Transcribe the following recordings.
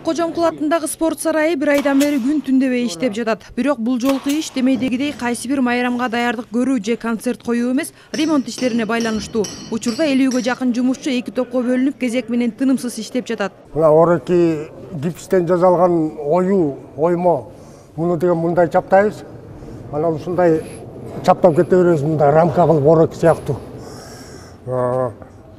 Ак Кожомкул атындагы спорт сарайы бир айдан бери күн түндөбөй иштеп жатат. Бирок бул жолку иш демейдегидей кайсы бир майрамга даярдык көрүү же концерт коюу эмес, ремонт иштерине байланыштуу. Учурда 50-ге жакын жумушчу эки топко бөлүнүп, кезек менен тынымсыз иштеп жатат. Мына орки гипстен жасалган оймо. Муну деген мындай чаптайбыз. Анан ушундай чаптап кете беребиз, мындай рамка кылып орок сыяктуу.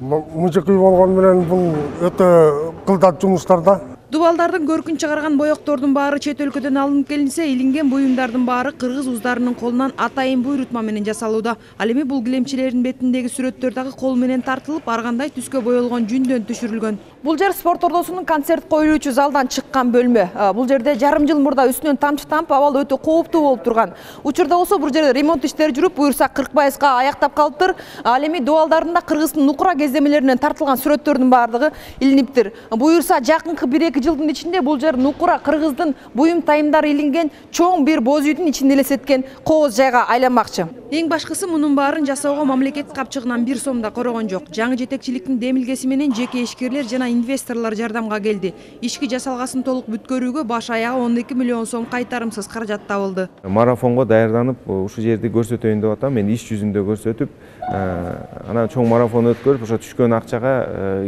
Мужикүй болгону менен бул өтө кылдат жумуштар да. Дубалдардын көркүн чыгарган боектордун баары чет өлкөдөн алынып келинсе, илинген буюмдардын баары кыргыз уздарынын колунан атайын буйрутма менен жасалууда. Ал эми бул килемчилердин бетиндеги сүрөттөр дагы кол менен тартылып, ар кандай түскө боелгон жүндөн түшүрүлгөн. Бул жер спорт ордосунун концерт коюлуучу залдан чыккан бөлмө. Бул жерде жарым жыл мурда үстүнөн тамчы тамып, абал өтө кооптуу болуп турган. Учурда болсо бул жерде ремонт иштери жүрүп, буюрса 40% аяктап калыптыр. Ал эми дубалдардын кыргыздын нукура кездемелеринен тартылган сүрөттөрдүн баардыгы илиниптир. Буюрса жакынкы 1-2 жылдын ичинде бул жер нукура кыргыздын буюм тайымдары илинген чоң бир боз үйдүн ичинде элестеткен кооз жайга айланмакчы. Эң башкысы мунун баарын жасоого мамлекет капчыгынан 1 сом да корогон жок. Жаңы жетекчиликтин демилгеси менен жеке ишкерлер жана инвесторлор жардамга келди. Ишки жасалгасын толук бүткөрүүгө баш аягы 12 миллион сом кайтарымсыз каражат табылды. Марафонго даярданып, ушу жерди көрсөтөйүн деп атам. Мен иш жүзүндө көрсөтүп, анан чоң марафон өткөрүп, ошо түшкөн акчага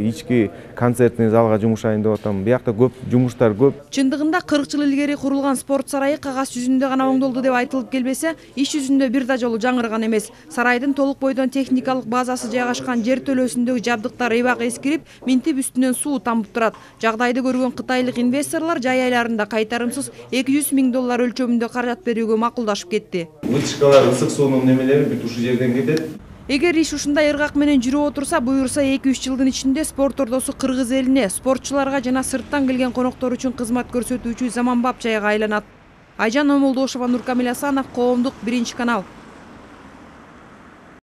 ички концертный залга жумушайын деп атам. Биякта көп жумуштар көп. Чындыгында 40 жыл илгери курулган спорт сарайы кагаз жүзүндө гана оңдолду деп айтылып келбесе, иш жүзүндө бир да жолу жаңырган эмес. Сарайдын толук бойдон техникалык базасы жайгашкан жер төлөөсүндөгү жабдыктар эбак эскирип, минтип үстүнөн суу тамып турат. Жагдайды көргөн кытайлык инвесторлор жай айларында кайтарымсыз $200 000 өлчөмүндө каражат берүүгө макулдашып кетти. Вытяжкалар, ысык суунун немелери бүт ушул жерден кетет. Эгер иш ушундай ыргак менен жүрүп отурса, буюрса 2-3 жылдын ичинде спорт ордосу кыргыз элине, спортчуларга жана сырттан келген коноктор үчүн кызмат көрсөтүүчү заманбап жайга айланат. Айжан Омолдошова, Нуркамил Асанов, Коомдук, 1 канал.